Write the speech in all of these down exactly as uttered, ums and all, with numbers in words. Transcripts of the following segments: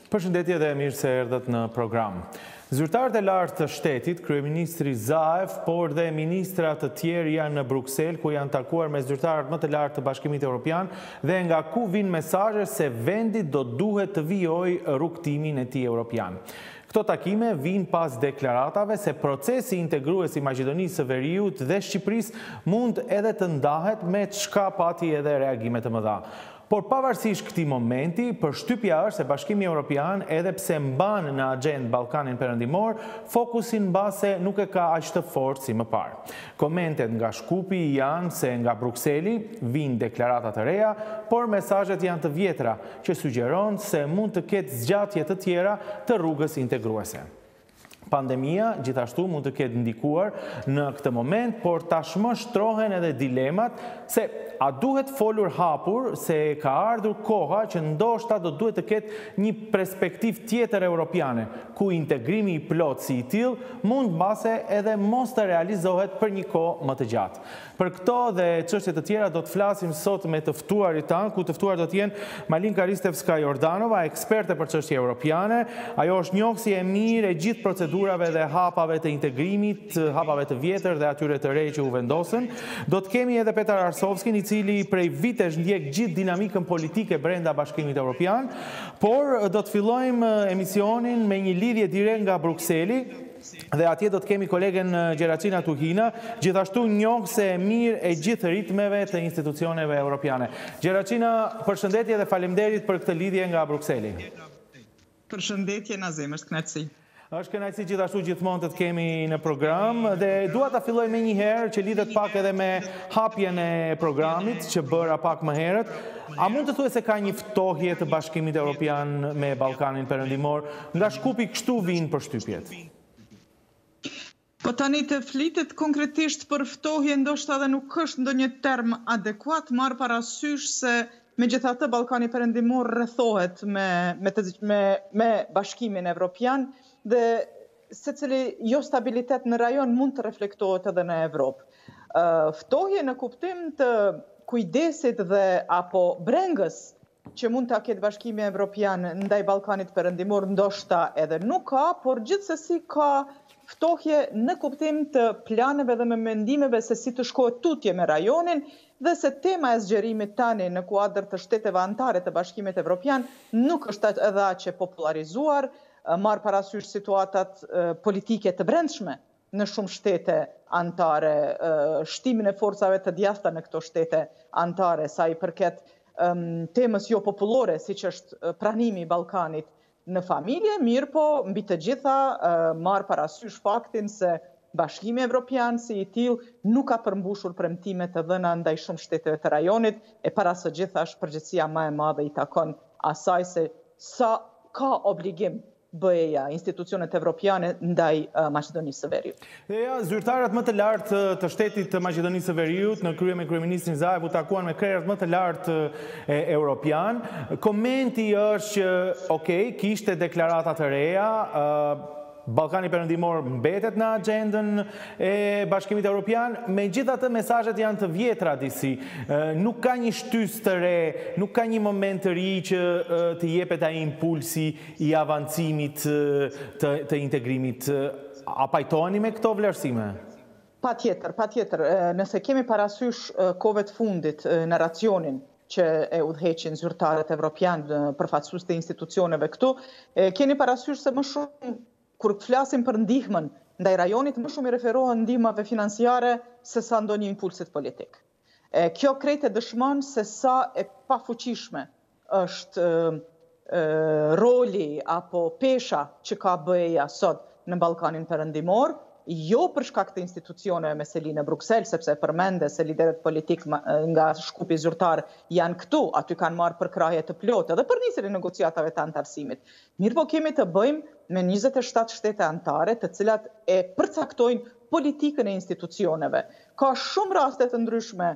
Përshëndetje dhe mirë se erdhët në program. Zyrtarët e lartë të shtetit, kryeministri Zaev, por dhe ministra të tjerë janë në Bruksel, ku janë takuar me zyrtarët më të lartë të Bashkimit Evropian dhe nga ku vinë mesazhe se vendi do duhet të vijojë rrugtimin e tij evropian. Këto takime vinë pas deklaratave se procesi integrues i Maqedonisë së Veriut dhe Shqipërisë mund edhe të ndahet me çka pati edhe reagime të mëdha. Por pavarësisht këtij momenti, përshtypja është se Bashkimi Evropian, edhe pse mban në agjendë Ballkanin Perëndimor, fokusin mbase nuk e ka aq të fortë si më parë. Komentet nga Shkupi janë se nga Brukseli vijnë deklarata të reja, por mesazhet janë të vjetra, që sugjeron se mund të ketë zgjatje të tjera të rrugës integruese. Pandemia gjithashtu mund të ketë ndikuar në këtë moment, por tashmë shtrohen edhe dilemat se a duhet folur hapur se ka ardhur koha që ndoshta do duhet të ketë një perspektiv tjetër europiane, ku integrimi i plot si i tillë mund mbase edhe mos të realizohet për një kohë më të gjatë. Për këto dhe çështje të tjera do të flasim sot me të ftuarit tanë, ku të ftuar do të jenë Malinka Ristevska-Jordanova, eksperte për çështje europiane. Ajo është njohësi e mirë e gjithë procedurave dhe hapave të integrimit, hapave të vjetër dhe atyre të re që u vendosën. Do të kemi edhe Petar Arsovskin, i cili prej vitesh ndjek gjithë dinamikën politike brenda Bashkimit Evropian, por do të fillojmë emisionin me një lidhje direkt nga Brukseli. Dhe atje do të kemi kolegen Gjeracina Tuhina, gjithashtu njohëse e mirë e gjithë ritmeve të institucioneve europiane. Gjeracina, përshëndetje dhe faleminderit për këtë lidhje nga Brukseli. Përshëndetje Nazim, është kënaqësi. Është kënaqësi gjithashtu gjithmonë të të kemi në program dhe dua ta filloj me një herë që lidhet pak edhe me hapjen e programit që bëra pak më herët. A mund të thuhet se ka një ftohje të Bashkimit Evropian me Ballkanin Perëndimor? Nga Shkupi kështu vinë përshtypjet. Po tani të flitet konkretisht për ftohje ndoshta edhe nuk është ndonjë term adekuat, marr parasysh se megjithatë Ballkani Perëndimor rrethohet me me, me me Bashkimin Evropian dhe secili jo stabilitet në rajon mund të reflektohet edhe në Evropë. Uh, ftohje në kuptim të kujdesit dhe apo brengës që mund ta ketë Bashkimi Evropian ndaj Ballkanit Perëndimor ndoshta edhe nuk ka, por gjithsesi ka ftohje në kuptim të planeve dhe me mendimeve se si të shkohet tutje me rajonin dhe se tema e zgjerimit tani në kuadër të shteteve anëtare të Bashkimit Evropian nuk është edhe aq e popularizuar, marr parasysh situatat politike të brendshme në shumë shtete anëtare, shtimin e forcave të djathta në këto shtete anëtare, sa i përket temës jo popullore, siç është pranimi i Ballkanit në familje, mirë po mbi të gjitha marr parasysh faktin se Bashkimi Evropian si i tillë nuk ka përmbushur premtimet e dhëna ndaj shumë shteteve të rajonit, e para së gjithash përgjegjësia më e madhe i takon asaj se sa ka obligim B E-ja, institucionet evropiane ndaj uh, Maqedonisë së Veriut. Dhe ja, zyrtarët më të lartë të shtetit të Maqedonisë së Veriut në krye me kryeministrin Zaev u takuan me krerët më të lartë e, europian. Komenti është që, okay, kishte deklarata të reja, uh, Ballkani Perëndimor mbetet në agjendën e Bashkimit Evropian, megjithatë mesazhet janë të vjetra disi. Nuk ka një shtysë të re, nuk ka një moment të ri që të jepet ai impulsi i avancimit të, të integrimit. A pajtoheni me këto vlerësime? Patjetër, patjetër. Nëse kemi parasysh kohëve të fundit në racionin që e udhëheqin zyrtarët evropian përfaqësues të institucioneve këtu, keni parasysh se më shumë kur flasim për ndihmën ndaj rajonit, më shumë i referohen ndihmave financiare se sa ndonjë impulsit politik. E, kjo krejt e dëshmon se sa e pafuqishme është e, e, roli apo pesha që ka B E-ja sot në Ballkanin Perëndimor, jo për shkak të institucioneve me seli në Bruksel, sepse përmende se liderët politik nga Shkupi zyrtar janë këtu, aty kanë marrë përkrahje të plotë dhe për nisjen e negociatave të antarësimit. Mirë po kemi të bëjmë me njëzet e shtatë shtete anëtare, të cilat e përcaktojnë politikën e institucioneve. Ka shumë raste të ndryshme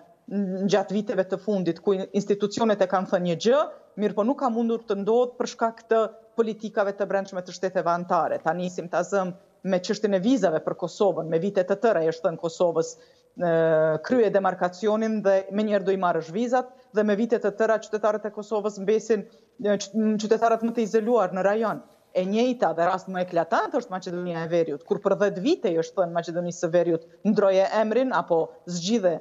gjatë viteve të fundit ku institucionet e kanë thënë një gjë, mirë po nuk ka mundur të ndodhë për shkak të politikave të brendshme të shteteve anëtare. Ta nisim ta zëm me çështjen e vizave për Kosovën, me vite të tëra është thënë Kosovës krye demarkacionin dhe menjëherë do i marrësh vizat dhe me vite të tëra qytetarët e Kosovës mbesin qytetarët më të izoluar në rajon. E njëjta dhe rast më eklatant është Maqedonia e Veriut, kur për dhjetë vite është thënë Maqedonisë së Veriut ndroje emrin apo zgjidhe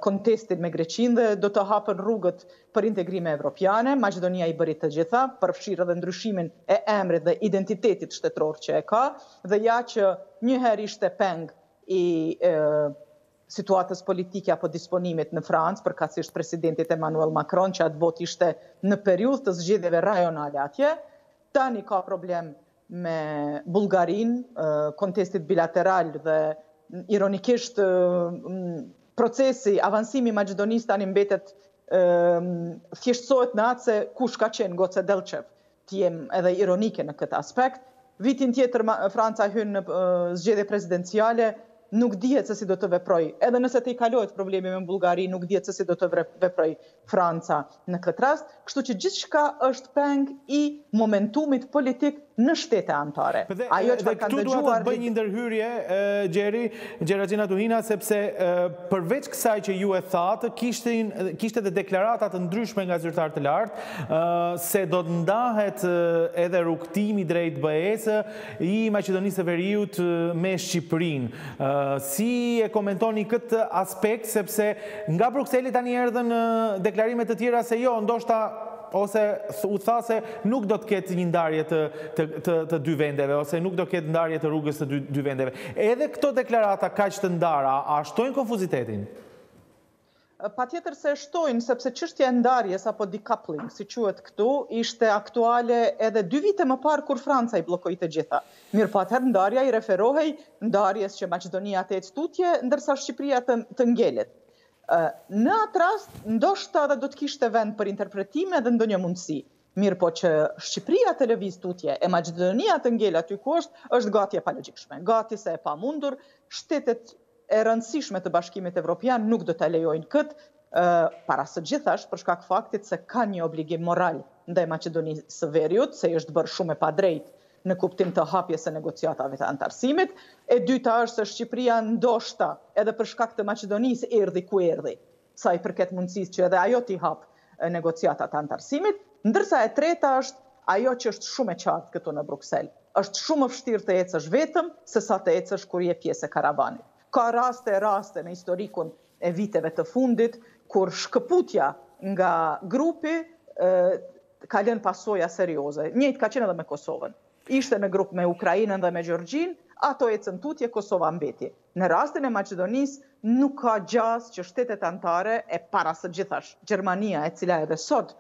kontestin me Greqinë dhe do të hapën rrugët për integrime evropiane. Maqedonia i bëri të gjitha, përfshirë edhe ndryshimin e emrit dhe identitetit shtetëror që e ka, dhe ja që njëherë ishte peng i e, situatës politike apo disponimit në Francë, përkatësisht presidentit Emmanuel Macron, që atë botë ishte në periudhë të zgjedhjeve rajonale atje. Tani ka problem me Bullgarin, kontestit bilateral dhe ironikisht procesi, avansimi i Maqedonisë tani mbetet thjeshtësohet në atë se kush ka qenë Goce Delchev, të jem edhe ironike në këtë aspekt. Vitin tjetër Franca hyn në zgjedhje presidenciale, nuk dihet se si do të veproj. Edhe nëse të i kalohet problemi me Bullgari, nuk dihet se si do të veproj Franca në këtë rast. Kështu që gjithçka është peng i momentumit politik në shtete anëtare. Dhe, Ajo që dhe këtu duhet të bëj një ndërhyrje, Gjeri, Gjeragina Tuhina, sepse përveç kësaj që ju e thatë, kishte dhe deklaratat të ndryshme nga zyrtarë të lartë, se do të ndahet edhe rrugtimi drejt B E-s i Maqedonisë së Veriut me Shqipërinë. Si e komentoni këtë aspekt, sepse nga Brukseli tani erdhën deklarime të tjera se jo, ndoshta ose u tha se nuk do të ketë një ndarje të, të, të, të dy vendeve, ose nuk do të ketë ndarje të rrugës të dy, dy vendeve. Edhe këto deklarata kaq të ndara, a shtojnë konfuzitetin? Patjetër se shtojnë, sepse çështja e ndarjes apo decoupling, si quhet këtu, ishte aktuale edhe dy vite më parë kur Franca i bllokoi të gjitha. Mirë, po atëherë ndarja i referohej ndarjes që Maqedonia të ecë tutje, ndërsa Shqipëria të, të ngjelet. Në atë rast, ndoshta edhe do të kishte vend për interpretime dhe ndonjë mundësi. Mirë, po që Shqipëria të lëviz tutje e Maqedonia të ngel aty ku është, është gati e palogjikshme. Gati se e pamundur, shtetet e rëndësishme të Bashkimit Evropian nuk do ta lejojnë këtë, para së gjithash për shkak faktit se ka një obligim moral ndaj Maqedonisë së Veriut, se është bërë shumë e padrejtë në kuptim të hapjes së negociatave të antarësimit. E dyta është se Shqipëria ndoshta edhe për shkak të Maqedonisë erdhi ku erdhi, sa i përket mundësisë që edhe ajo t'i hap negociatat të antarësimit, ndërsa e treta është ajo që është shumë e qartë këtu në Bruksel. Është shumë më vështirë të ecësh vetëm se sa të ecësh kur je pjesë e karavanit. Ka raste e raste në historikun e viteve të fundit kur shkëputja nga grupi e, ka lënë pasoja serioze. Njëjtë ka qenë edhe me Kosovën. Ishte në grup me Ukrainën dhe me Gjorgjin, ato ecën tutje, Kosova mbeti. Në rastin e Maqedonisë nuk ka gjas që shtetet anëtare e para së gjithash, Gjermania, e cila edhe sot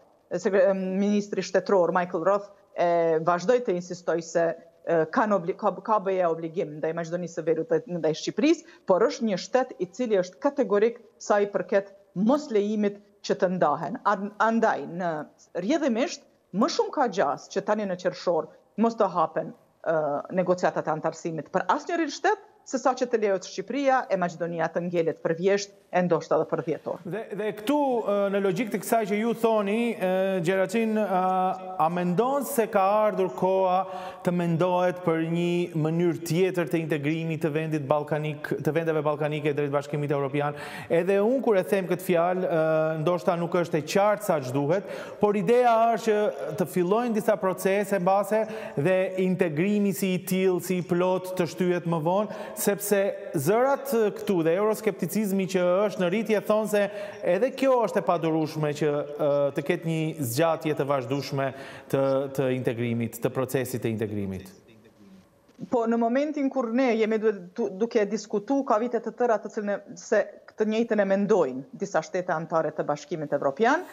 ministri shtetëror Michael Roth e vazhdoi të insistoj se ka, ka, ka bëje obligim ndaj Maqedonisë së Veriut dhe ndaj Shqipërisë, por është një shtet i cili është kategorik sa i përket mos lejimit që të ndahen. Andaj, në rrjedhimisht, më shumë ka gjas që tani në qershor mos të hapen uh, negociatat e antarësimit për asnjërin shtet, se sa që të lejohet Shqipëria e Maqedonia të ngjelet për vjesht e ndoshta edhe për dhjetë orë. Dhe, dhe këtu, në logjik të kësaj që ju thoni, Gjeracin, a mendon se ka ardhur koha të mendohet për një mënyrë tjetër të integrimit të vendit balkanik, të vendeve balkanike drejt Bashkimit Evropian? Edhe unë kur e them këtë fjalë, ndoshta nuk është e qartë sa ç'duhet, por ideja është që të fillojnë disa procese mbase dhe integrimi si i tillë, si i plot të shtyhet më vonë, sepse zërat këtu dhe euroskepticizmi që është në rritje thonë se edhe kjo është e padurueshme që të ketë një zgjatje të vazhdueshme të, të integrimit, të procesit të integrimit. Po në momentin kur ne jemi duke diskutu, ka vite të tëra të cilën se këtë njëjtën e mendojnë disa shtete anëtare të Bashkimit Evropian,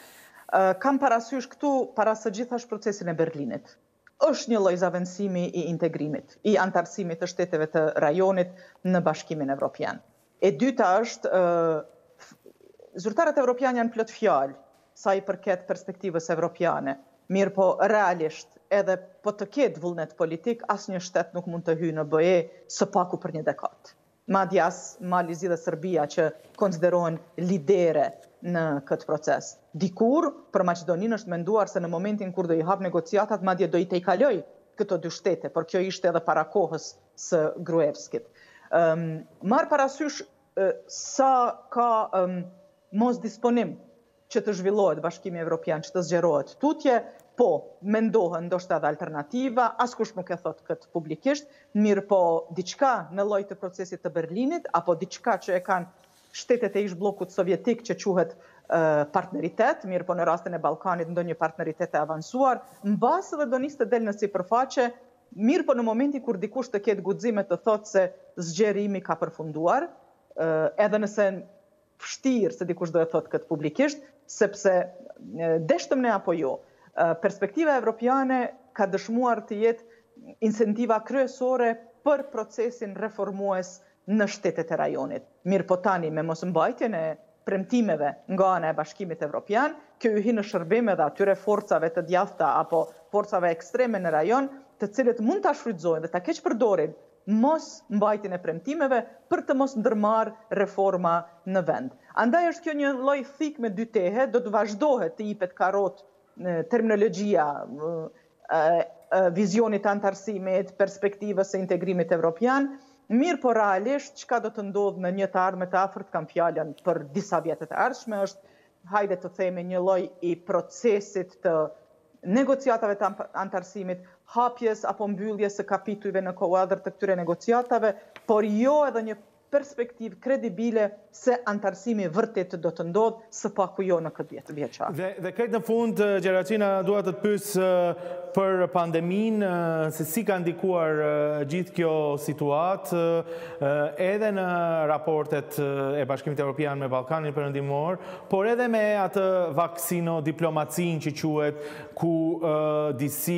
kam parasysh këtu para së gjithash procesin e Berlinit. Është një lloj zaventësimi i integrimit, i antarësimit të shteteve të rajonit në Bashkimin Evropian. E dyta është, zyrtarët evropianë janë plot fjalë sa i përket perspektivës evropiane, mirë po realisht edhe po të ketë vullnet politik, asnjë shtet nuk mund të hyjë në B E së paku për një dekadë. Madje as Malizi dhe Serbia që konsiderohen lidere në këtë proces. Dikur, për Maqedoninë është menduar se në momentin kur do i hap negociatat, madje do i tejkaloj këto dy shtete, por kjo ishte edhe para kohës së Gruevskit. Um, marr parasysh uh, sa ka um, mos disponim që të zhvillohet Bashkimi Evropian, që të zgjerohet tutje, po, mendohen ndoshta edhe alternativa, askush nuk e thot këtë publikisht, mirë po diçka në lloj të procesit të Berlinit, apo diçka që e kanë shtetet e ish bllokut sovjetik që quhet uh, partneritet, mirë po në rastin e Ballkanit ndonjë partneritet e avancuar, mbas edhe do nisë të del në sipërfaqe, mirë po në momenti kur dikush të ketë guxime të thotë se zgjerimi ka përfunduar, uh, edhe nëse vështirë se dikush do e thotë këtë publikisht, sepse uh, deshtëm ne apo jo, uh, perspektiva evropiane ka dëshmuar të jetë incentiva kryesore për procesin reformues në shtetet e rajonit. Mirë po tani me mos mbajtjen e premtimeve nga ana e Bashkimit Evropian, kjo u hi në shërbim edhe atyre forcave të djathta apo forcave ekstreme në rajon, të cilët mund ta shfrytëzojnë dhe ta keq përdorin mos mbajtjen e premtimeve për të mos ndërmarrë reforma në vend. Andaj është kjo një lloj thikë me dy tehe, do të vazhdohet të jipet karrot terminologjia vizionit antarësimit, perspektivës së integrimit evropian. Mirë po realisht, çka do të ndodhë në një të ardhme të afërt, kam fjalën për disa vjetet e ardhshme, është, hajde të themi, një lloj i procesit të negociatave të antarësimit, hapjes apo mbylljes së kapitujve në kuadër të këtyre negociatave, por jo edhe një perspektivë kredibile se antarësimi vërtet do të ndodhë, së paku jo në këtë vjetë vjeçar. Dhe, dhe këtë në fund, Gjeraqina, dua të të pyes për pandemin, se si ka ndikuar gjithë kjo situatë, edhe në raportet e Bashkimit Evropian me Ballkanin Perëndimor, por edhe me atë vaksino diplomacin që quhet, ku disi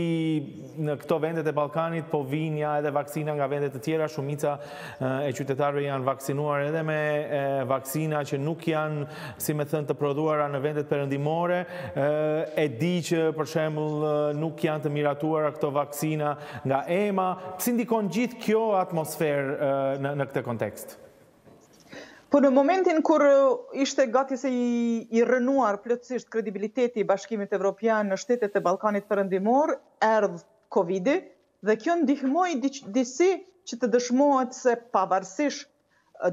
në këto vendet e Ballkanit po vinja edhe vaksina nga vendet të tjera, shumica e qytetarëve janë vaksinuar edhe me vaksina që nuk janë, si me thënë, të prodhuara në vendet perëndimore, e di që për shembull nuk janë të miratuara këto vaksina nga E M A. Si ndikon gjithë kjo atmosferë në, në këtë kontekst? Po në momentin kur ishte gati se i, i rënuar plotësisht kredibiliteti i Bashkimit Evropian në shtetet e Ballkanit Perëndimor, erdhi Covidi dhe kjo ndihmoi disi që të dëshmohet se pavarësisht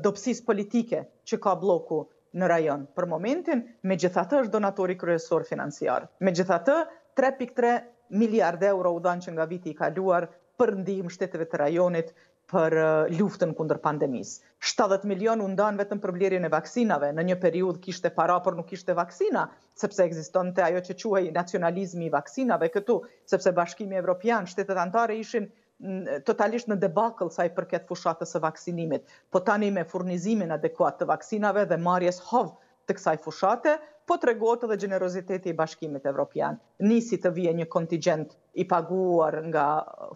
dobësisë politike që ka bloku në rajon për momentin, megjithatë është donatori kryesor financiar. Megjithatë, tre pikë tre miliard euro u dhanë që nga viti i kaluar për ndihmë shteteve të rajonit për luftën kundër pandemisë. shtatëdhjetë milion u ndanë vetëm për blerjen e vaksinave. Në një periudhë kishte para, por nuk kishte vaksina, sepse ekzistonte ajo që quhej nacionalizmi i vaksinave këtu, sepse Bashkimi Evropian, shtetet anëtare ishin totalisht në debakël sa i përket fushatës së vaksinimit. Po tani me furnizimin adekuat të vaksinave dhe marrjes hovë të kësaj fushate, po tregohet edhe gjeneroziteti i Bashkimit Evropian. Nisi të vije një kontingent i paguar nga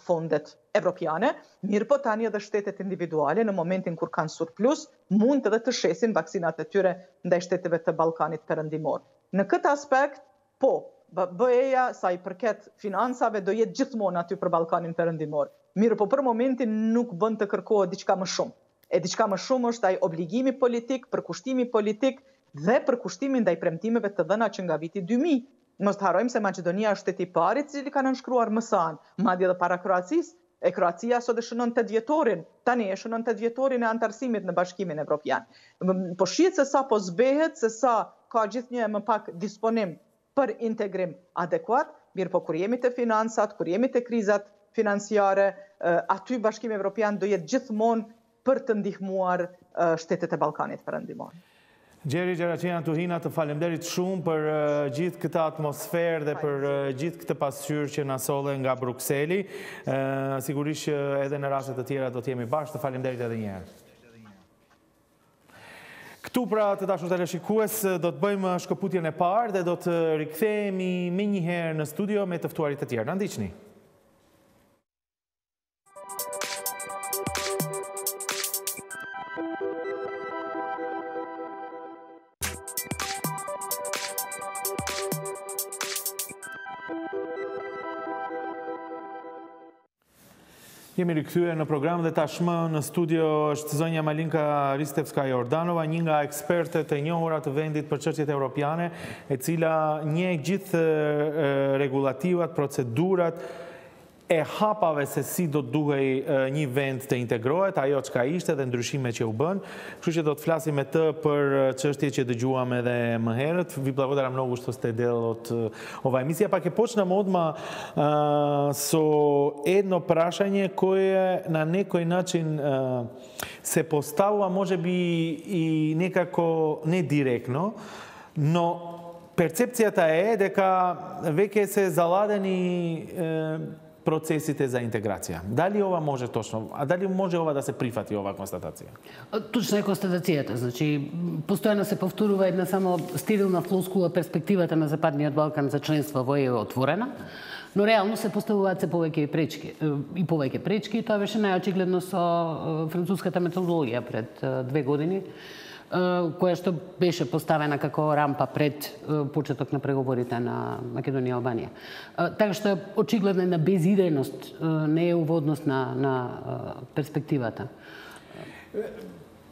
fondet evropiane, mirë po tani edhe shtetet individuale në momentin kur kanë surplus, mund edhe të shesin vaksinat e tyre ndaj shteteve të Ballkanit Perëndimor. Në këtë aspekt, po, B E-ja sa i përket financave do jetë gjithmonë aty për Ballkanin Perëndimor. Mirë po për momentin nuk bën të kërkohet diçka më shumë. E diçka më shumë është ai obligimi politik, përkushtimi politik dhe përkushtimi ndaj premtimeve të dhëna që nga viti dy mijë. Mos të harrojmë se Maqedonia është shteti i parë i cili ka nënshkruar M S A-n, madje edhe para Kroacisë. E Kroacia sot e shënon tetë vjetorin, tani e shënon tetë vjetorin e antarësimit në Bashkimin Evropian. Po shihet se sa po zbehet, se sa ka gjithnjë më pak disponim për integrim adekuat, mirë po kur jemi të finansat, kur jemi të krizat financiare, aty Bashkimi Evropian do jetë gjithmonë për të ndihmuar shtetet e Ballkanit Perëndimor. Gjeri Gjeraqina Tuhina, të falemderit shumë për gjithë këtë atmosferë dhe për gjithë këtë pasqyrë që na solle nga Brukseli. Sigurisht që edhe në raste të tjera do të jemi bashkë, të falemderit edhe një herë. Këtu pra të dashur teleshikues do të bëjmë shkëputjen e parë dhe do të rikthehemi më një herë në studio me të ftuarit të tjerë. Na ndiqni. Jemi rikthyer në program dhe tashmë në studio është zonja Malinka Ristevska-Jordanova, një nga ekspertët e njohura të vendit për çështjet evropiane, e cila njeh gjithë rregullativat, procedurat e hapave se si do të duhej një vend të integrohet, ajo çka ishte dhe ndryshime që u bën. Kështu që do të flasim me të për çështje që dëgjuam edhe më herët. Vi благодарам много што сте дел од ова емисија. Па ќе почнам одма uh, со едно прашање кое на некој начин uh, се поставува можеби и некако не директно, но перцепцијата е дека веќе се заладени uh, процесите за интеграција. Дали ова може точно, а дали може ова да се прифати, ова констатација? Точна е констатацијата. Значи, постојано се повторува една само стерилна флоскула, перспективата на Западниот Балкан за членство во е отворена, но реално се поставуваат се повеќе пречки и повеќе пречки, и тоа беше најочигледно со француската методологија пред две години, која што беше поставена како рампа пред почеток на преговорите на Македонија и Албанија. Така што очигледно на безидејност, не е уводност на, на перспективата.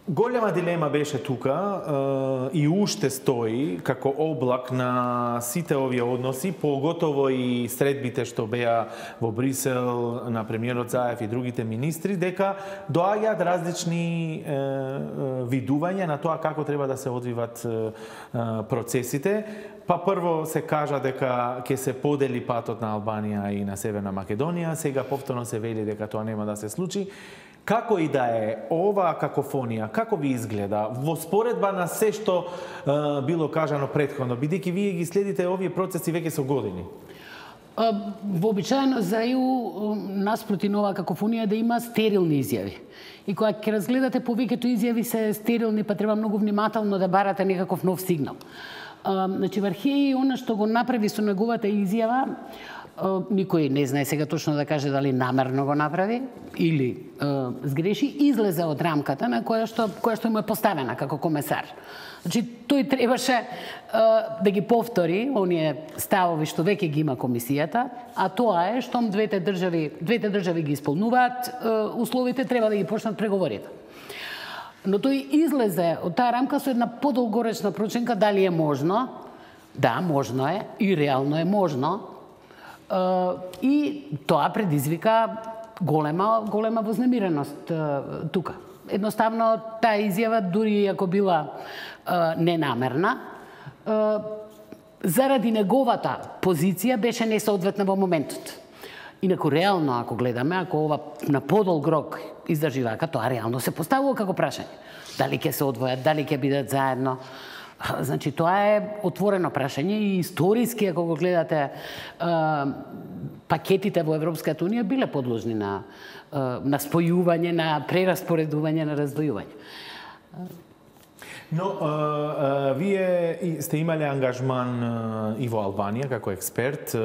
Голема дилема беше тука и уште стои како облак на сите овие односи, поготово и средбите што беа во Брисел на премиерот Заев и другите министри, дека доаѓаат различни видувања на тоа како треба да се одвиват процесите. Па прво се кажа дека ќе се подели патот на Албанија и на Северна Македонија, сега повторно се вели дека тоа нема да се случи. Како и да е оваа какофонија, како ви изгледа во споредба на се што е, било кажано претходно, бидејќи вие ги следите овие процеси веќе со години? Вообичаено за ЕУ наспроти нова какофонија да има стерилни изјави. И кога ќе разгледате повеќето изјави се стерилни, па треба многу внимателно да барате некаков нов сигнал. Значи, Вархеј, она што го направи со неговата изјава, никој не знае сега точно да каже дали намерно го направи или е, сгреши, излезе од рамката на која што, која што му е поставена како комесар. Значи, тој требаше е, да ги повтори оние ставови што веќе ги има комисијата, а тоа е штом двете држави, двете држави ги исполнуваат е, условите, треба да ги почнат преговорите. Но тој излезе од таа рамка со една подолгоречна проценка дали е можно. Да, можно е и реално е можно. И тоа предизвика голема, голема вознемиреност тука. Едноставно, таа изјава, дури ако била ненамерна, заради неговата позиција беше несоодветна во моментот. Инаку, реално, ако гледаме, ако ова на подолг рок издржи вака, тоа реално се поставува како прашање. Дали ќе се одвојат, дали ќе бидат заедно. Значи, тоа е отворено прашање и историски, ако го гледате, пакетите во Европската Унија биле подложни на, на спојување, на прераспоредување, на раздвојување. Но, а, а, вие сте имале ангажман а, и во Албанија како експерт,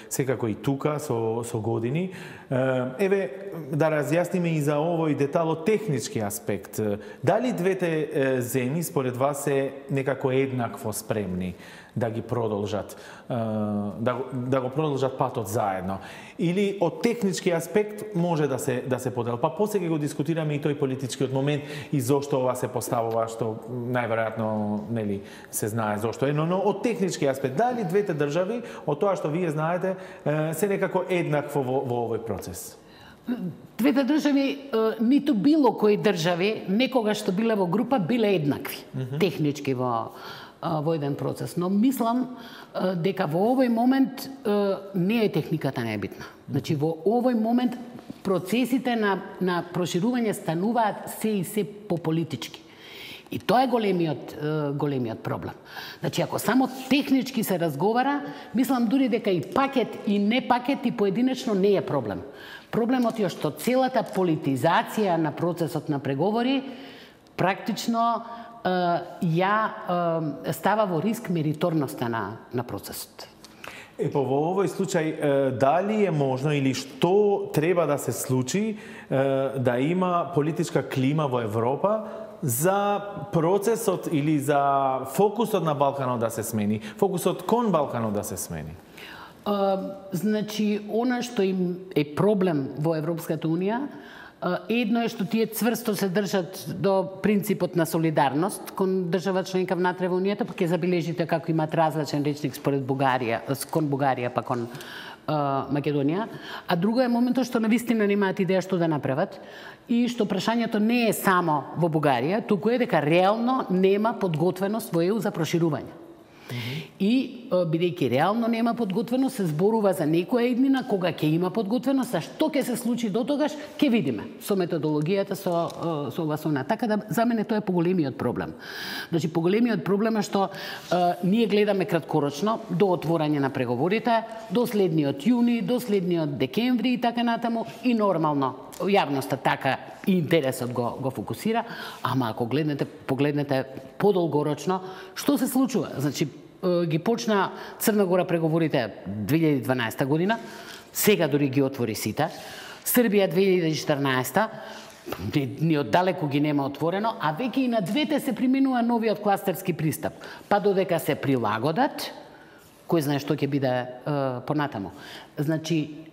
секако и тука со, со години. А, еве, да разјасниме и за овој детало технички аспект. Дали двете земји според вас се некако еднакво спремни да ги продолжат, да, да го продолжат патот заедно? Или од технички аспект може да се да се подел? Па после ќе го дискутираме и тој политичкиот момент и зошто ова се поставува, што најверојатно нели се знае зошто е, но, но од технички аспект дали двете држави од тоа што вие знаете се некако еднакво во, во овој процес? Двете држави, ниту било кои држави некогаш што биле во група биле еднакви, mm-hmm. технички во во еден процес, но мислам дека во овој момент не е техниката најбитна. Значи, во овој момент процесите на, на проширување стануваат се и се пополитички. И тоа е големиот, големиот проблем. Значи, ако само технички се разговара, мислам дури дека и пакет и не пакет и поединечно не е проблем. Проблемот е што целата политизација на процесот на преговори практично ја става во риск мериторноста на, на процесот. Е, па во овој случај, дали е можно или што треба да се случи да има политичка клима во Европа за процесот или за фокусот на Балканот да се смени, фокусот кон Балканот да се смени? Uh, значи, она што им е проблем во Европската Унија, едно е што тие цврсто се држат до принципот на солидарност кон држава членка внатре во Унијата, па ќе забележите како имат различен речник според Бугарија, кон Бугарија, па кон Македонија, а друго е моментот што навистина немаат идеја што да направат и што прашањето не е само во Бугарија, туку е дека реално нема подготвеност во Е У за проширување. И, бидејќи реално нема подготвеност, се зборува за некоја иднина кога ќе има подготвеност, а што ќе се случи до тогаш, ќе видиме со методологијата, со, со ова со она. Така да, за мене тоа е поголемиот проблем. Значи, поголемиот проблем е што е, ние гледаме краткорочно до отворање на преговорите, до следниот јуни, до следниот декември и така натаму, и нормално јавноста така и интересот го, го фокусира, ама ако гледнете, погледнете подолгорочно, што се случува? Значи, ги почна Црна Гора преговорите две илјади и дванаесета година, сега дори ги отвори сите, Србија две илјади и четрнаесета, ни оддалеку ги нема отворено, а веќе и на двете се применува новиот кластерски пристап. Па додека се прилагодат, кој знае што ќе биде е, понатаму. Значи,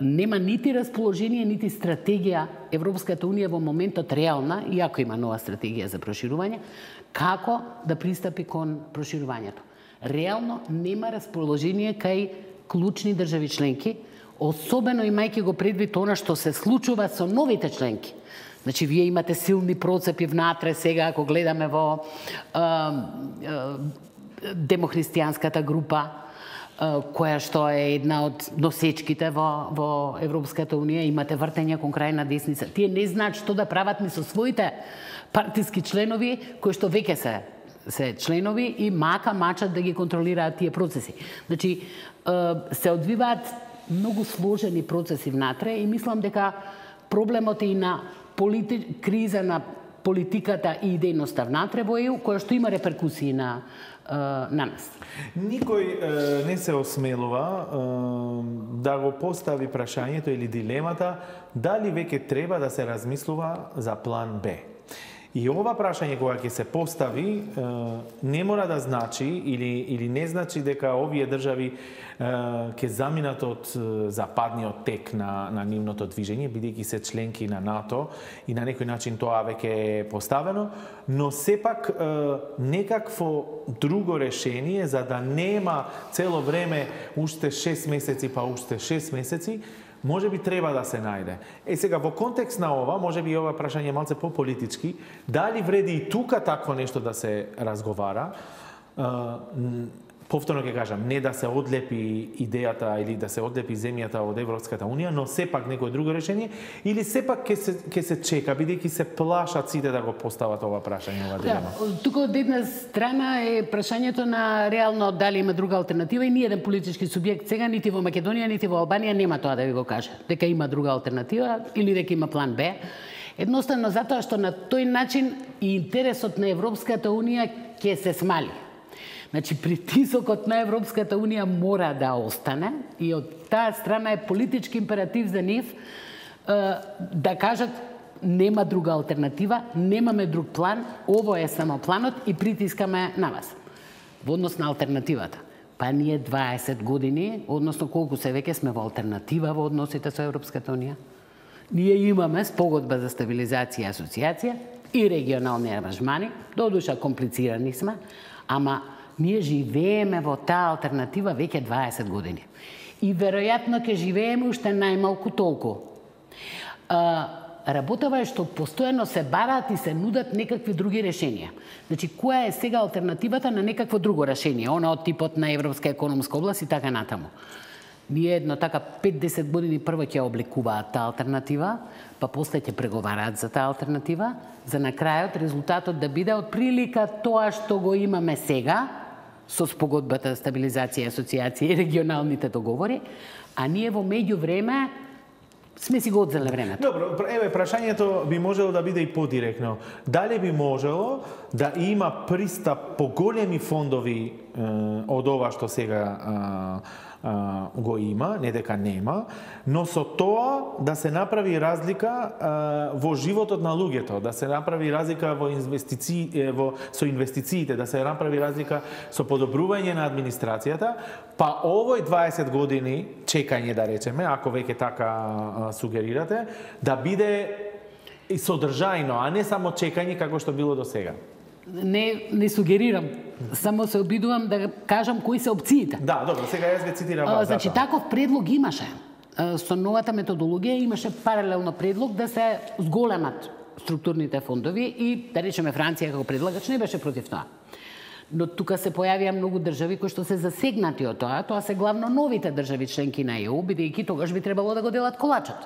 нема нити расположение, нити стратегија Европската Унија во моментот реална, иако има нова стратегија за проширување, како да пристапи кон проширувањето. Реално нема расположение кај клучни држави членки, особено имајќи го предвид она што се случува со новите членки. Значи, вие имате силни процепи внатре сега, ако гледаме во е, е, демохристијанската група, која што е една од носечките во, во Европската Унија, имате вртење кон крајна десница. Тие не знаат што да прават ни со своите партиски членови, кои што веќе се, се членови и мака мачат да ги контролираат тие процеси. Значи, се одвиваат многу сложени процеси внатре и мислам дека проблемот е и на полити... криза на политиката и идејноста внатре во Е У, која што има реперкусии на на нас. Никој е, не се осмелува е, да го постави прашањето или дилемата дали веќе треба да се размислува за план Б. И ова прашање кога ќе се постави е, не мора да значи или, или не значи дека овие држави е, ќе заминат од западниот тек на, на нивното движење, бидејќи се членки на НАТО и на некој начин тоа веќе е поставено, но сепак е, некакво друго решение за да нема цело време уште шест месеци па уште шест месеци, може би треба да се најде. Е сега, во контекст на ова, може би ова прашање е малце по-политички, дали вреди и тука такво нешто да се разговара, повторно ќе кажам, не да се одлепи идејата или да се одлепи земјата од Европската Унија, но сепак некој друго решение, или сепак ќе се, ќе се чека, бидејќи се плашат сите да го постават ова прашање, ова дилема. Да, тука од една страна е прашањето на реално дали има друга алтернатива и ни еден политички субјект сега, нити во Македонија, нити во Албанија нема тоа да ви го каже, дека има друга алтернатива или дека има план Б. Едноставно затоа што на тој начин и интересот на Европската Унија ќе се смали. Значи, притисокот на Европската Унија мора да остане и од таа страна е политички императив за нив да кажат нема друга алтернатива, немаме друг план, ово е само планот и притискаме на вас. Во однос на алтернативата. Па ние дваесет години, односно колку се веќе сме во алтернатива во односите со Европската Унија. Ние имаме спогодба за стабилизација и асоциација и регионални аранжмани, додуша комплицирани сме, ама ние живееме во таа алтернатива веќе дваесет години. И веројатно ќе живееме уште најмалку толку. А, работава е што постојано се бараат и се нудат некакви други решенија. Значи, која е сега алтернативата на некакво друго решение, она од типот на Европска економска област и така натаму. Ние едно така пет-десет години прво ќе обликуваат таа алтернатива, па после ќе преговараат за таа алтернатива, за на крајот резултатот да биде од прилика тоа што го имаме сега, со спогодбата за стабилизација и асоциација и регионалните договори, а ние во меѓувреме сме си го одзеле времето. Добро, еве прашањето би можело да биде и подиректно. Дали би можело да има пристап по големи фондови е, од ова што сега е, Uh, го има, не дека нема, но со тоа да се направи разлика uh, во животот на луѓето, да се направи разлика во инвестици... во... со инвестициите, да се направи разлика со подобрување на администрацијата, па овој дваесет години чекање, да речеме, ако веќе така uh, сугерирате, да биде и содржајно, а не само чекање како што било до сега. Не, не сугерирам, само се обидувам да кажам кои се опциите. Да, добро, сега јас ве цитирам вас. Значи, таков предлог имаше. Со новата методологија имаше паралелно предлог да се зголемат структурните фондови и, да речеме, Франција како предлагач не беше против тоа. Но тука се појавија многу држави кои што се засегнати од тоа. Тоа се главно новите држави членки на Е У, бидејќи тогаш би требало да го делат колачот.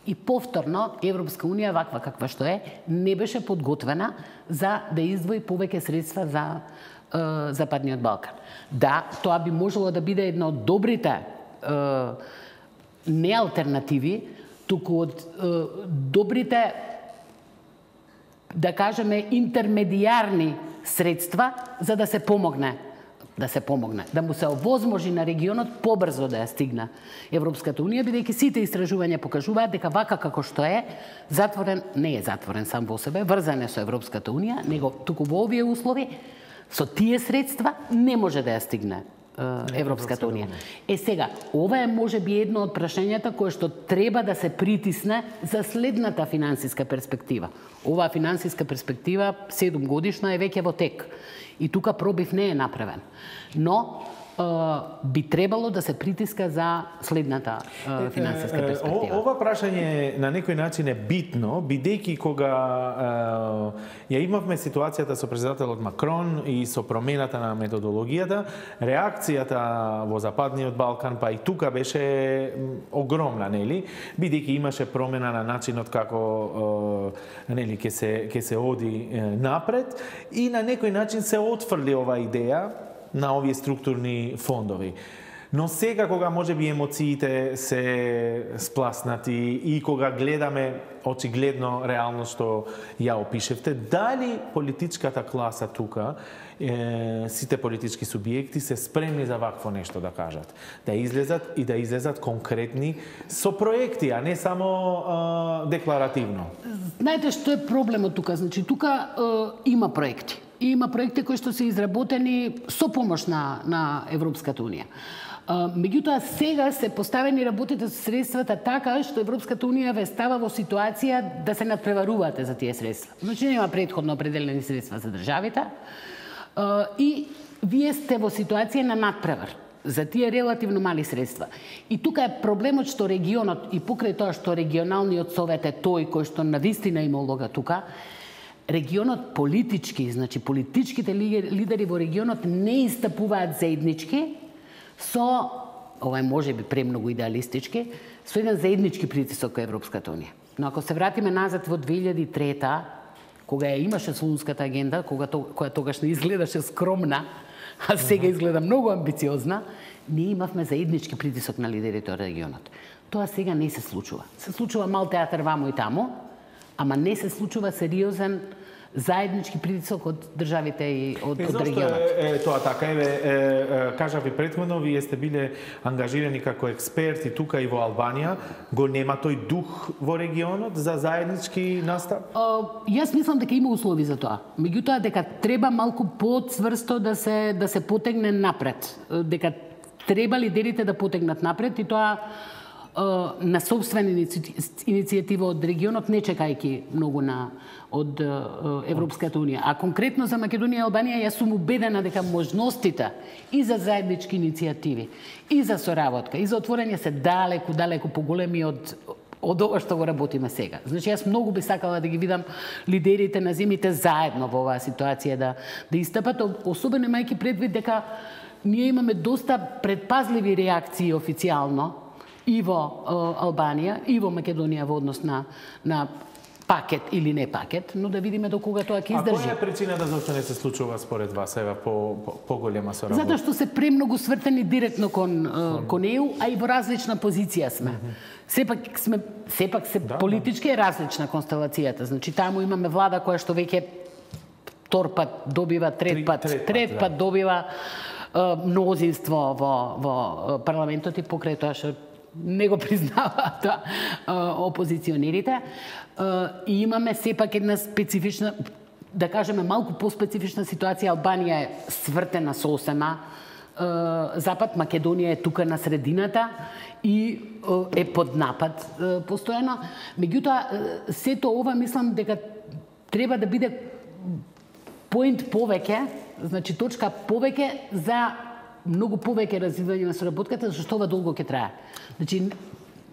И повторно, Европска унија, ваква каква што е, не беше подготвена за да издвои повеќе средства за е, Западниот Балкан. Да, тоа би можело да биде една од добрите е, не алтернативи, туку од е, добрите, да кажеме, интермедијарни средства за да се помогне, да се помогне, да му се овозможи на регионот побрзо да ја стигне Европската унија, бидејќи сите истражувања покажуваат дека вака како што е, затворен, не е затворен сам во себе, врзан е со Европската унија, него туку во овие услови, со тие средства не може да ја стигне Европската унија. Е сега, ова е можеби едно од прашањата кое што треба да се притисне за следната финансиска перспектива. Оваа финансиска перспектива, седум годишна, е веќе во тек. И тука пробив не е направен. Но би требало да се притиска за следната финансиска перспектива. Ова прашање на некој начин е битно, бидејќи кога ја имавме ситуацијата со президентот Макрон и со промената на методологијата, реакцијата во Западниот Балкан, па и тука беше огромна, нели? Бидејќи имаше промена на начинот како нели ќе се ќе се оди напред и на некој начин се отфрли оваа идеја на овие структурни фондови. Но сега кога можеби емоциите се спласнати и кога гледаме очигледно реално што ја опишевте, дали политичката класа тука, е, сите политички субјекти се спремни за вакво нешто да кажат, да излезат и да излезат конкретни со проекти, а не само е, декларативно. Знаете што е проблемот тука? Значи тука е, има проекти. И има проекти кои што се изработени со помош на, на Европската унија. Меѓутоа, сега се поставени работите со средствата така што Европската унија ве става во ситуација да се надпреварувате за тие средства. Значи, нема предходно определени средства за државите и вие сте во ситуација на надпревар за тие релативно мали средства. И тука е проблемот што регионот, и покрај тоа што регионалниот совет е тој кој што навистина има улога тука, регионот политички, значи политичките лидери во регионот не истапуваат заеднички со, ова е можеби премногу идеалистички, со еден заеднички притисок кон Европската унија. Но ако се вратиме назад во две илјади и трета, кога ја имаше Солунската агенда, кога која тогаш не изгледаше скромна, а сега изгледа многу амбициозна, ние имавме заеднички притисок на лидерите од регионот. Тоа сега не се случува. Се случува мал театар вамо и тамо, ама не се случува сериозен заеднички притисок од државите и од, од регионот. Е, е, тоа така е, е, кажав и претходно, вие сте биле ангажирани како експерти тука и во Албанија, го нема тој дух во регионот за заеднички настап? Uh, јас мислам дека има услови за тоа. Меѓутоа дека треба малку поцврсто да се да се потегне напред, дека треба лидерите да потегнат напред и тоа на собствена иницијатива од регионот, не чекајќи многу на од Европската унија. А конкретно за Македонија и Албанија, јас сум убедена дека можностите и за заеднички иницијативи, и за соработка, и за отворање се далеку, далеку поголеми од од ова што го работиме сега. Значи, јас многу би сакала да ги видам лидерите на земјите заедно во оваа ситуација да да истапат, особено имајќи предвид дека ние имаме доста предпазливи реакции официјално и во Албанија, и во Македонија во однос на, на пакет или не пакет, но да видиме до кога тоа ќе издржи. А која е причината зашто не се случува според вас ева по поголема по соработка? Затоа што се премногу свртени директно кон mm. кон Е У, а и во различна позиција сме. Mm -hmm. Сепак сме сепак се да, политички да. Е различна констелацијата. Значи таму имаме влада која што веќе втор пат добива, трет Три, пат, трет, трет пат, пат да. добива мнозинство во во парламентот и покрај тоа што не го признаваат опозиционерите. И имаме сепак една специфична, да кажеме малку по-специфична ситуација. Албанија е свртена сосема, Запад, Македонија е тука на средината и е под напад постојано. Меѓутоа, сето ова мислам дека треба да биде поинт повеќе, значи точка повеќе за многу повеќе развивање на соработката, зашто ова долго ќе трае. Значи,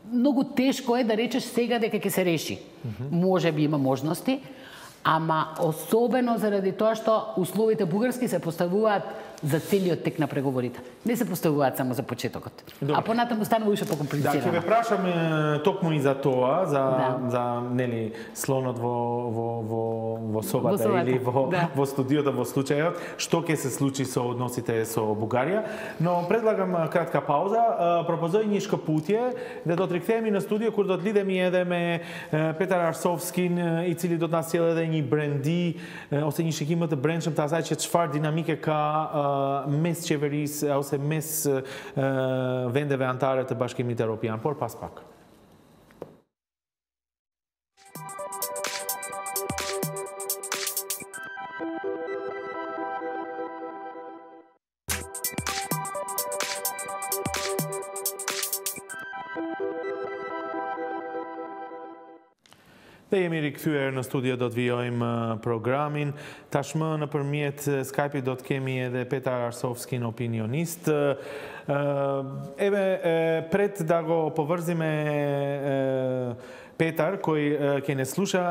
многу тешко е да речеш сега дека ќе се реши. Mm-hmm. Може би има можности, ама особено заради тоа што условите бугарски се поставуваат за целиот тек на преговорите. Не се поставуваат само за почетокот. Добре. А понатаму станува уште покомплицирано. Да, ќе ве прашам токму и за тоа, за да. за нели слонот во во во во собата, во собата. Или во да. во студиото во случајот, што ќе се случи со односите со Бугарија. Но предлагам кратка пауза. Пропозојнишко путје да дотрикнеме на студио кога дотлидеме едеме Петар Арсовскин и цели до нас целедени бренди, осењише ќе имате брендшем таа зајче чвар динамике ка мес чеверис, осе мес вендеве антарите башкимите Европјан. Пор пас пак. Dhe jemi rikthyer në studio, do të vijojmë programin. Tashmë nëpërmjet Skype-it do të kemi edhe Petar Arsovskin, opinionist. Eve pret da go поврзиме Петар, кој ќе не слуша.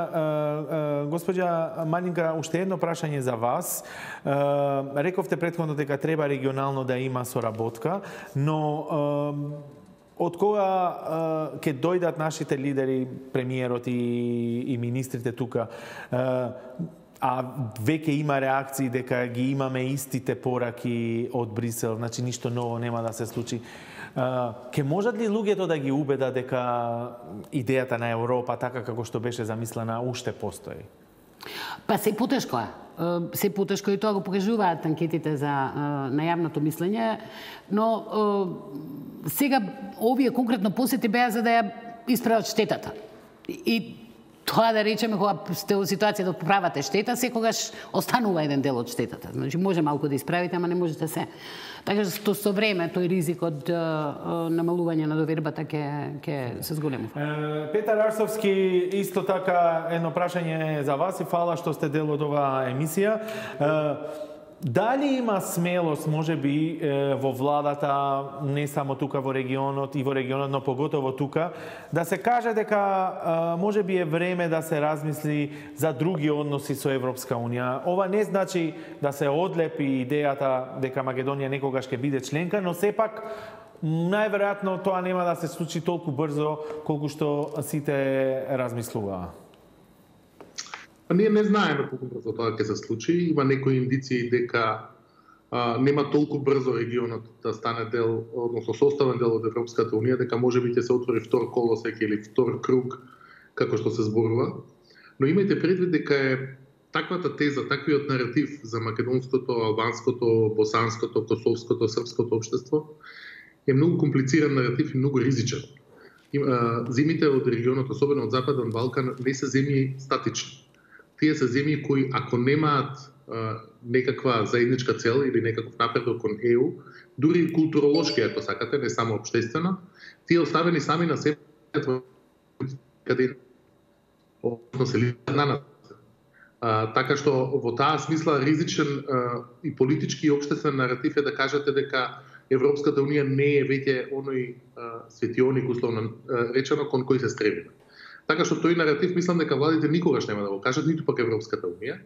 Господја Малинка, уште едно прашање за вас. Рековте претходно дека треба регионално да има соработка, но од кога ќе дојдат нашите лидери, премиерот и, и министрите тука, а веќе има реакции дека ги имаме истите пораки од Брисел, значи ништо ново нема да се случи. Ке можат ли луѓето да ги убедат дека идејата на Европа, така како што беше замислена, уште постои? Па се потешко е. Се потешко и тоа го покажуваат анкетите за на јавното мислење, но сега овие конкретно посети беа за да ја исправат штетата. И тоа да речеме кога сте во ситуација да поправате штета, секогаш останува еден дел од штетата. Значи може малку да исправите, ама не можете се. Така што со време тој ризик од намалување на довербата ќе ќе се зголемува. Петар Арсовски, исто така едно прашање за вас и фала што сте дел од оваа емисија. Дали има смелост, може би, во владата, не само тука во регионот и во регионот, но поготово тука, да се каже дека може би е време да се размисли за други односи со Европска Унија. Ова не значи да се одлепи идејата дека Македонија некогаш ќе биде членка, но сепак најверојатно тоа нема да се случи толку брзо колку што сите размислуваа. А ние не знаеме колку брзо тоа ќе се случи. Има некои индиции дека а, нема толку брзо регионот да стане дел, односно составен дел од Европската Унија, дека може би ќе се отвори втор колосек или втор круг, како што се зборува. Но имајте предвид дека е таквата теза, таквиот наратив за македонското, албанското, босанското, косовското, српското општество е многу комплициран наратив и многу ризичен. Земјите од регионот, особено од Западен Балкан, не се земји статични. Тие се земји кои, ако немаат а, некаква заедничка цел или некаков напредок кон Е У, дури културолошки, ако сакате, не само општествено, тие оставени сами на себе, каде се на нас. А, така што во таа смисла ризичен а, и политички и општествен наратив е да кажете дека Европската Унија не е веќе оној а, светионик, условно а, речено, кон кој се стремиме. Така што тој наратив мислам дека владите никогаш нема да го кажат, ниту пак Европската Унија,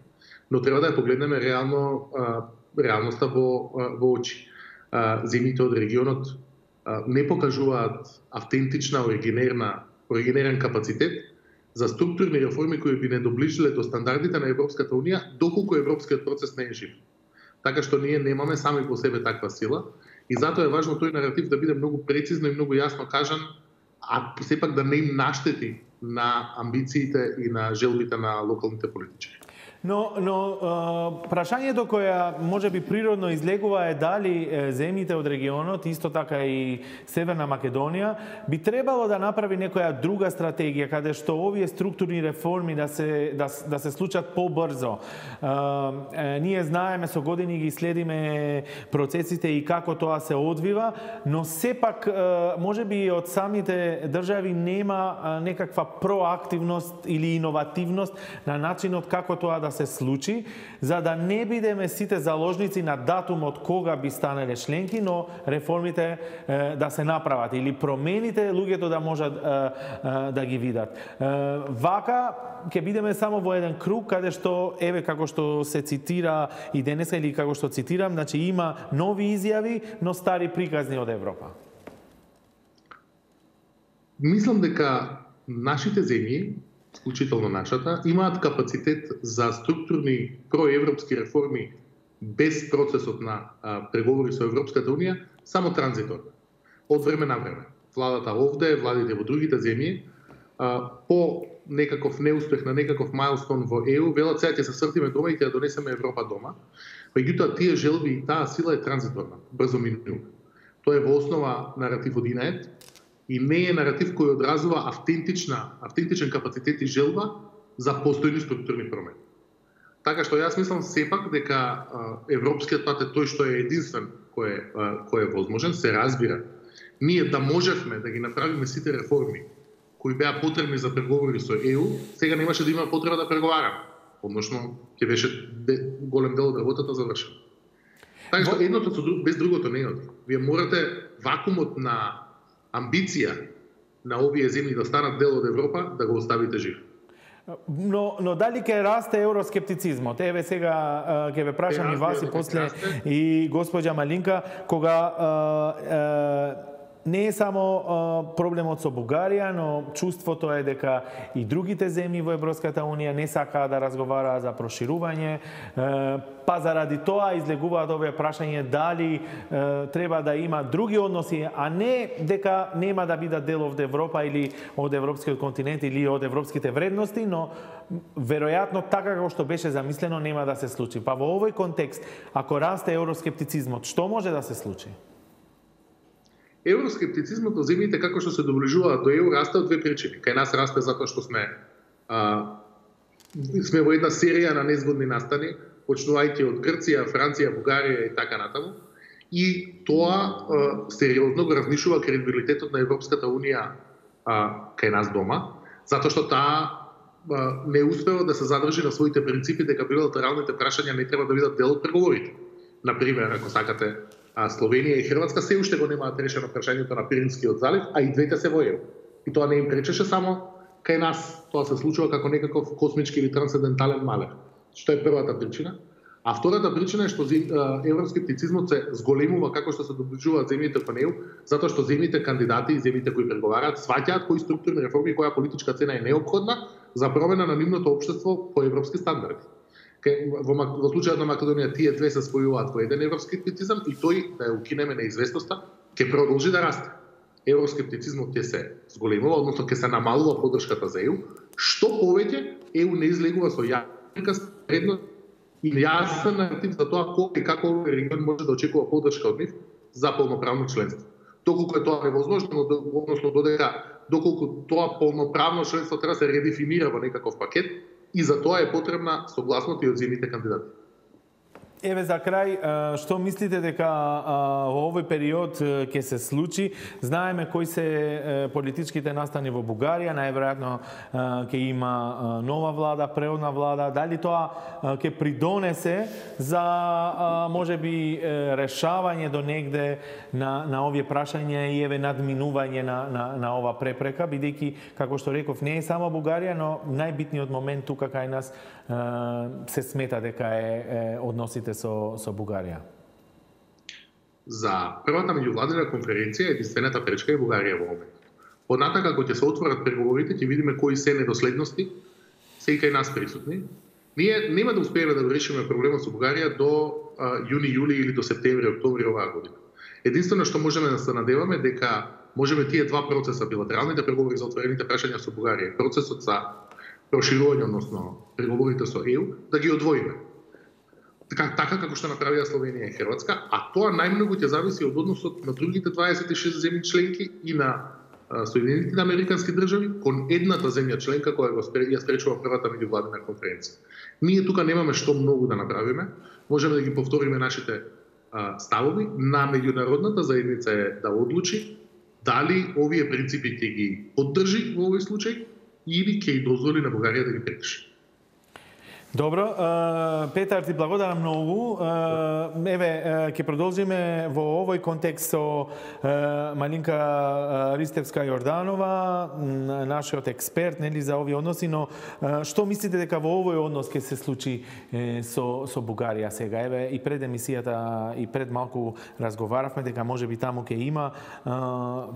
но треба да ја погледнеме реално а, реалноста во во очи. А, земјите од регионот а, не покажуваат автентична, оригинерна, оригинерен капацитет за структурни реформи кои би не доближиле до стандардите на Европската Унија, доколку европскиот процес не е жив. Така што ние немаме сами по себе таква сила и затоа е важно тој наратив да биде многу прецизно и многу јасно кажан, а сепак да не им наштети на амбициите и на желбите на локалните политичари. Но, но прашањето која може би природно излегува е дали земјите од регионот, исто така и Северна Македонија, би требало да направи некоја друга стратегија каде што овие структурни реформи да се да, да се случат побрзо. Ние знаеме, со години ги следиме процесите и како тоа се одвива, но сепак може би од самите држави нема некаква проактивност или иновативност на начинот како тоа да да се случи, за да не бидеме сите заложници на датумот кога би станале членки, но реформите е, да се направат или промените луѓето да можат е, е, да ги видат. Е, вака ќе бидеме само во еден круг каде што еве како што се цитира и денеска или како што цитирам, значи има нови изјави, но стари приказни од Европа. Мислам дека нашите земји, вклучително нашата, имаат капацитет за структурни проевропски реформи без процесот на а, преговори со Европската Унија, само транзиторно, од време на време. Владата овде, владите во другите земји, а, по некаков неуспех на некаков мајлстон во Е У, велат сега ќе се свртиме дома и ќе ја донесеме Европа дома. Меѓутоа, тие желби и таа сила е транзиторна, брзо минува. Тоа е во основа наратив од ИНАЕТ, и не е наратив кој одразува автентична, автентичен капацитет и желба за постојни структурни промени. Така што јас мислам сепак дека а, европскиот пат е тој што е единствен кој е, а, кој е возможен, се разбира. Ние да можевме да ги направиме сите реформи кои беа потребни за преговори со Е У, сега немаше да има потреба да преговараме. Односно, ќе беше голем дел од работата завршена. Така што едното со друг, без другото не оди. Вие морате вакуумот на амбиција на овие земји да станат дел од Европа, да го оставите жив. Но, но дали ќе расте евроскептицизмот? Еве сега ќе ве прашам и вас и после и госпоѓа Малинка, кога е, е, не е само а, проблемот со Бугарија, но чувството е дека и другите земји во Европската Унија не сакаат да разговараат за проширување, е, па заради тоа излегуваат овие прашање дали е, треба да има други односи, а не дека нема да бидат дел од Европа или од европскиот континент или од европските вредности, но веројатно така како што беше замислено нема да се случи. Па во овој контекст, ако расте евроскептицизмот, што може да се случи? Евроскептицизмот во земјите како што се доближуваат до Е У расте од две причини. Кај нас расте затоа што сме а, сме во една серија на незгодни настани, почнувајќи од Грција, Франција, Бугарија и така натаму. И тоа а, сериозно го разнишува кредибилитетот на Европската Унија а, кај нас дома, затоа што таа а, не успева да се задржи на своите принципи дека билатералните прашања не треба да бидат дел од преговорите. Например, ако сакате, а Словенија и Хрватска се уште го немаат решено прашањето на Пиринскиот залив, а и двете се во Е У. И тоа не им пречеше само кај нас, тоа се случува како некаков космички или трансцендентален малер. Што е првата причина. А втората причина е што евроскептицизмот се зголемува како што се доближуваат земјите кон Е У, затоа што земјите кандидати и земјите кои преговараат сваќаат кои структурни реформи и која политичка цена е неопходна за промена на нивното општество по европски стандарди. Во, во случајот на Македонија тие две се спојуваат во еден евроскептицизам и тој, да ја укинеме неизвестноста, ќе продолжи да расте. Евроскептицизмот ќе се зголемува, односно ќе се намалува поддршката за Е У, што повеќе Е У не излегува со јака предност и јасен наратив за тоа колку и како овој регион може да очекува поддршка од нив за полноправно членство. Доколку е тоа невозможно, односно додека доколку тоа полноправно членство треба да се редефинира во некаков пакет, и за тоа е потребна согласност и од земјите кандидати. Еве за крај, што мислите дека во овој период ќе се случи? Знаеме кои се политичките настани во Бугарија, најверојатно ќе има нова влада, преодна влада. Дали тоа ќе придонесе за можеби решавање до негде на на овие прашања и еве надминување на на на ова препрека, бидејќи како што реков не е само Бугарија, но најбитниот момент тука кај нас се смета дека е односите со, со Бугарија? За првата меѓувладина конференција единствената пречка е Бугарија во моментот. Понатака кога ќе се отворат преговорите, ќе видиме кои се недоследности се и кај нас присутни. Ние нема да успееме да го решиме проблемот со Бугарија до а, јуни, јули или до септември, октомври оваа година. Единствено што можеме да се надеваме дека можеме тие два процеса, билатералните преговори за отворените прашања со Бугарија, процесот за проширување, односно преговорите со Е У, да ги одвоиме. Така, така како што направија Словенија и Хрватска, а тоа најмногу ќе зависи од односот на другите дваесет и шест земји членки и на Соединетите Американски држави кон едната земја членка која го ја спречува првата меѓувладина конференција. Ние тука немаме што многу да направиме, можеме да ги повториме нашите а, ставови, на меѓународната заедница е да одлучи дали овие принципи ќе ги поддржи во овој случај или ќе и дозволи на Бугарија да ги прекрши. Добро, Петар, ти благодарам многу. Еве, ќе продолжиме во овој контекст со Малинка Ристевска-Јорданова, нашиот експерт, нели, за овие односи, но што мислите дека во овој однос ќе се случи со со Бугарија сега? Еве, и пред емисијата и пред малку разговаравме дека можеби таму ќе има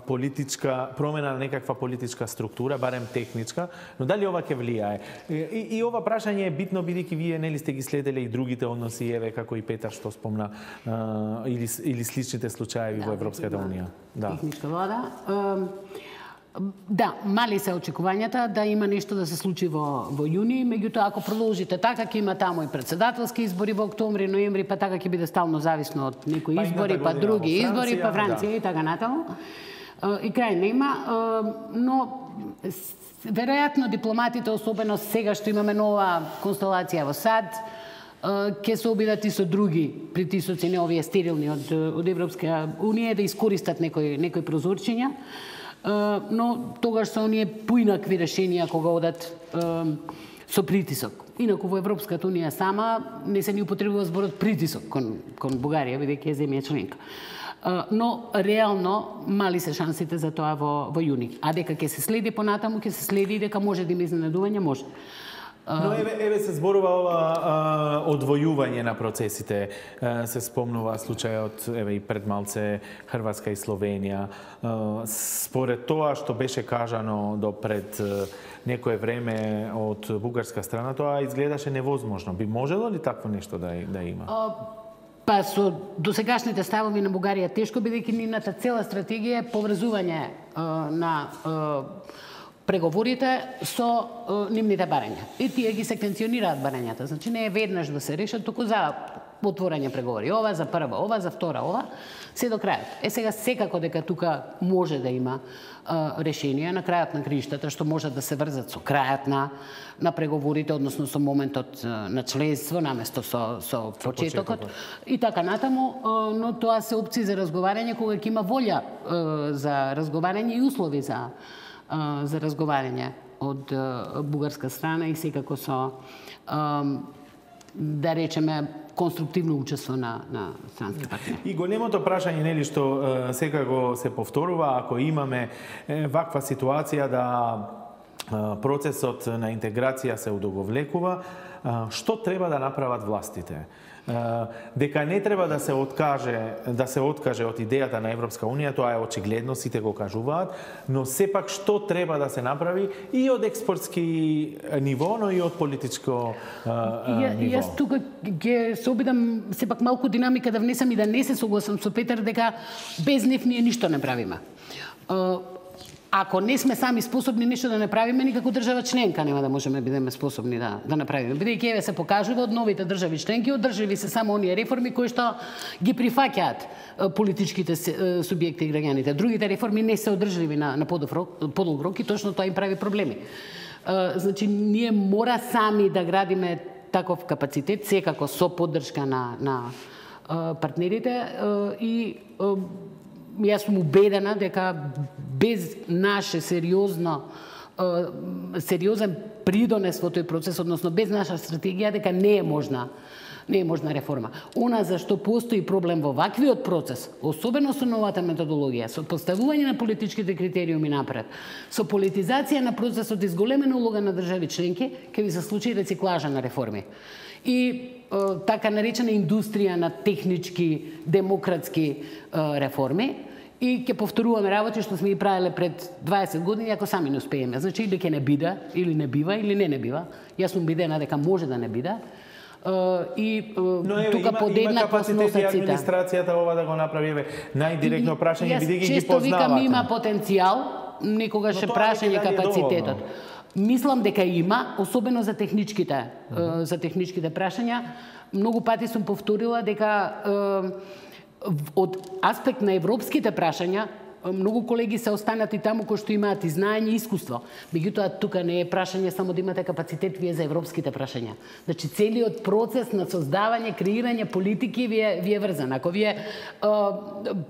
политичка промена на некаква политичка структура, барем техничка, но дали ова ќе влијае? И, и ова прашање е битно, бидејќи вие нели сте ги следеле и другите односи, еве како и Петар што спомна, а, или или сличните случаи да, во Европската унија. Да. Техничка влада. Да, мали се очекувањата да има нешто да се случи во во јуни, меѓутоа ако продолжите така ќе има таму и председателски избори во октомври, ноември, па така ќе биде стално зависно од некои избори, па други избори, па Франција да. И така натаму. И крај нема, но веројатно дипломатите, особено сега што имаме нова констелација во САД, ќе се обидат и со други притисоци, не овие стерилни од, од Европска унија, да искористат некои, некои прозорчиња, но тогаш се оние поинакви решенија кога одат со притисок. Инаку во Европската унија сама не се ни употребува зборот притисок кон, кон Бугарија, бидејќи е земја членка. Но реално мали се шансите за тоа во, во јуни. А дека ќе се следи понатаму, ќе се следи и дека може да има изненадување, може. Но еве, еве се зборува ова а, одвојување на процесите. А, се спомнува случајот еве и пред малце Хрватска и Словенија. А, според тоа што беше кажано до пред некое време од бугарска страна, тоа изгледаше невозможно. Би можело ли такво нешто да, да има? А... Па со досегашните ставови на Бугарија тешко, бидејќи нивната цела стратегија е поврзување е, на е, преговорите со е, нивните барања. И тие ги секвенционираат барањата. Значи не е веднаш да се решат, туку за отворање преговори. Ова за прва, ова за втора, ова, се до крајот. Е сега секако дека тука може да има е, решение на крајот на криштата, што може да се врзат со крајот на на преговорите, односно со моментот на членство, наместо со, со почетокот. И така натаму, но тоа се опции за разговарање кога ќе има волја за разговарање и услови за, за разговарање од бугарска страна и секако со, да речеме, конструктивно учество на, на странски партнери. И големото прашање, нели, што секако се повторува, ако имаме ваква ситуација да процесот на интеграција се удоговлекува, што треба да направат властите? Дека не треба да се откаже, да се откаже од идејата на Европска унија, тоа е очигледно, сите го кажуваат, но сепак што треба да се направи и од експертски ниво, но и од политичко ја, ниво? Јас тука ќе се обидам сепак малку динамика да внесам и да не се согласам со Петар дека без нив ние ништо не правиме. Ако не сме сами способни нешто да направиме, никако држава членка нема да можеме да бидеме способни да да направиме. Бидејќи еве се покажува од новите држави членки, одрживи се само оние реформи кои што ги прифаќаат политичките субјекти и граѓаните. Другите реформи не се одржливи на на подолг рок и точно тоа им прави проблеми. Значи ние мора сами да градиме таков капацитет, секако со поддршка на на партнерите и јас сум убедена дека без наше сериозно сериозен придонес во тој процес, односно без наша стратегија, дека не е можна не е можна реформа. Она за што постои проблем во ваквиот процес, особено со новата методологија, со поставување на политичките критериуми напред, со политизација на процесот и зголемена улога на држави членки, ќе ви се случи рециклажа на реформи. И така наречена индустрија на технички, демократски реформи и ќе повторуваме работи што сме ги правеле пред дваесет години ако сами не успееме. Значи или ќе не биде, или не бива, или не не бива. Јас сум убедена дека може да не биде. И но, еве, тука подеднакво сносат сите. Администрацијата ова да го направи, еве, најдиректно прашање, бидејќи ги познавате. Често викам има потенцијал, никогаш е прашање капацитетот. Мислам дека има, особено за техничките, uh -huh. за техничките прашања. Многу пати сум повторила дека од аспект на европските прашања многу колеги се останати таму кои што имаат и знаење и искуство. Меѓутоа тука не е прашање само да имате капацитет вие за европските прашања. Значи целиот процес на создавање, креирање политики ви е, ви е врзан. Ако вие е,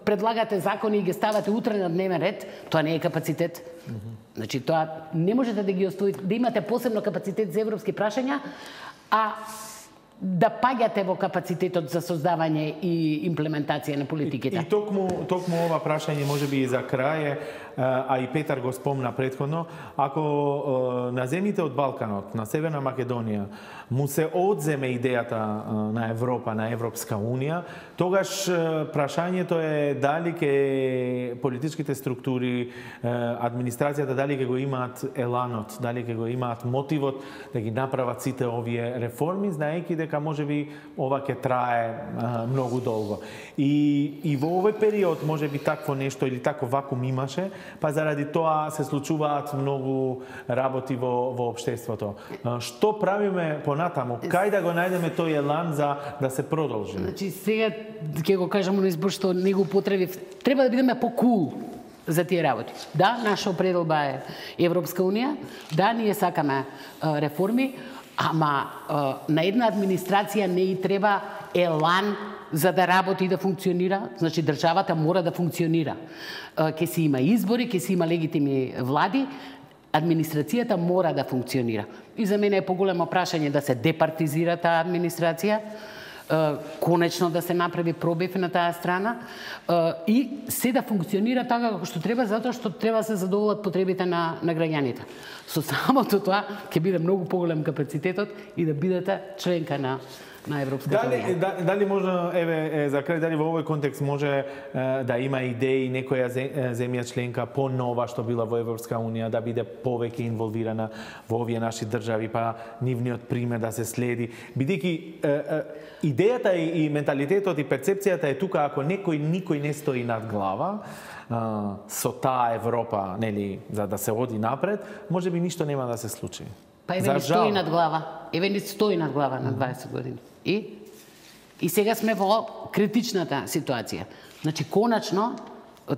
предлагате закони и ги ставате утре на дневен ред, тоа не е капацитет. Mm-hmm. Значи тоа не можете да ги оставите, да имате посебно капацитет за европски прашања, а да паѓате во капацитетот за создавање и имплементација на политиките. И, и токму, токму ова прашање може би и за крај, а и Петар го спомна претходно, ако на земјите од Балканот, на Северна Македонија, му се одземе идејата на Европа, на Европска Унија, тогаш прашањето е дали ке политичките структури, администрацијата, дали ке го имаат еланот, дали ке го имаат мотивот да ги направат сите овие реформи, знаејќи дека можеби ова ќе трае а, многу долго. И, и во овој период можеби такво нешто или таков вакуум имаше, па заради тоа се случуваат многу работи во, во општеството. А, што правиме понатаму? Кај да го најдеме тој елан за да се продолжи? Значи, сега ќе го кажам на избор што не го потребив. Треба да бидеме по-кул за тие работи. Да, наша определба е Европска Унија, да, ние сакаме а, реформи, ама а, на една администрација не и треба елан за да работи и да функционира. Значи, државата мора да функционира. Ке си има избори, ке си има легитимни влади, администрацијата мора да функционира. И за мене е поголемо прашање да се департизира таа администрација, конечно да се направи пробив на таа страна и се да функционира така како што треба, затоа што треба да се задоволат потребите на, на граѓаните. Со самото тоа ќе биде многу поголем капацитетот и да бидете членка на на Европската Дали, Унија. дали може, еве, за крај, дали во овој контекст може е, да има идеи некоја земја членка по-нова што била во Европска Унија, да биде повеќе инволвирана во овие наши држави, па нивниот пример да се следи, бидејќи идејата и, и менталитетот и перцепцијата е тука, ако некој никој не стои над глава, а, со таа Европа, нели, за да се оди напред, можеби ништо нема да се случи. Па еве ни стои над глава. Еве ни стои над глава на дваесет години. И и сега сме во критичната ситуација. Значи конечно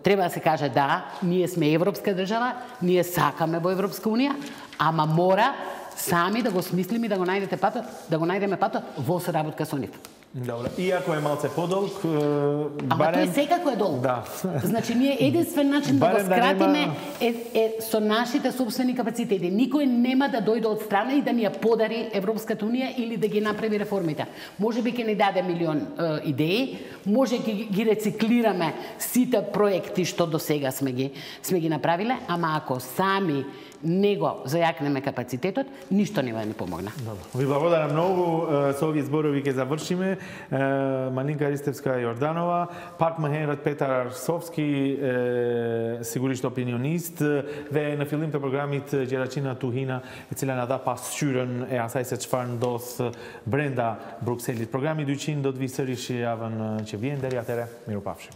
треба да се каже да, ние сме европска држава, ние сакаме во Европска Унија, ама мора сами да го смислиме и да го најдете патот, да го најдеме патот во соработка со нив. Добре. Иако е малце подолг, Ама барем... тој секако е долг. Да. Значи, ние единствен начин да го скратиме да нема... е, е со нашите собствени капацитети. Никој нема да дојде од страна и да ни ја подари Европската Унија или да ги направи реформите. Може би ќе ни даде милион е, идеи, може ги, ги рециклираме сите проекти што до сега сме ги, сме ги направиле, ама ако сами него зајакнеме капацитетот, ништо нема да ни помогна. Добро. Ви благодарам многу. Со овие зборови ќе завршиме. Малинка Ристевска Јорданова, пак махенерот Петар Арсовски, сигуришто opinionist. Dhe në fillim të programit Gjeraqina Tuhina, e cila na dha pasqyrën e asaj se çfarë ndodh brenda Brukselit. Programi dyqind do të vi sërish javën që vjen. Deri atëherë, mirupafshim.